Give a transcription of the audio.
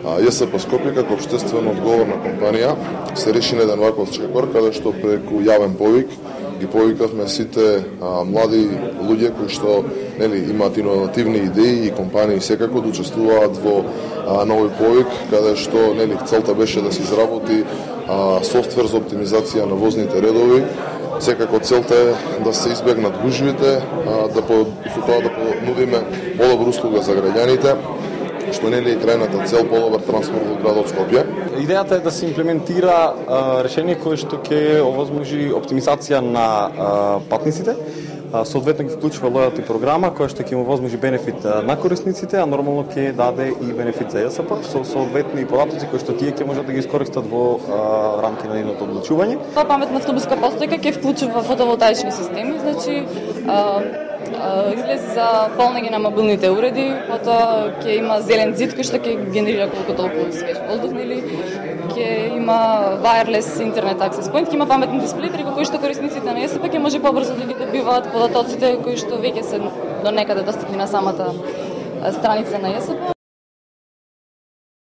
ЈСП Скопје како општествено одговорна компанија се реши на еден ваков чекор каде што преку јавен повик ги повикавме сите млади луѓе кои што имаат иновативни идеи и компании секако да учествуваат во новој повик каде што целта беше да се изработи софтвер за оптимизација на возните редови. Секако целта е да се избегнат гужвите, со тоа да понудиме подобра услуга за граѓаните, што е крајната цел подобар транспорт во градот Скопје. Идејата е да се имплементира решение кое што ќе овозможи оптимизација на патниците, соодветно ги вклучува лојалти програма која што ќе им овозможи бенефит на корисниците, а нормално ќе даде и бенефит за ЈСП со соодветни податоци кои што тие ќе можат да ги искористат во рамки на нивното одлучување. Па паметна автобуска постојка ќе вклучува фотоволтаични системи, значи излези за полнење на мобилните уреди, потоа ќе има зелен зид кој што ќе генерира колку толку свеж воздух, ќе има wireless интернет access point, ќе има паметни дисплеи преку кои што корисниците на ЈСП ќе може побрзо да ги добиваат податоците кои што веќе се до некаде достапни на самата страница на ЈСП.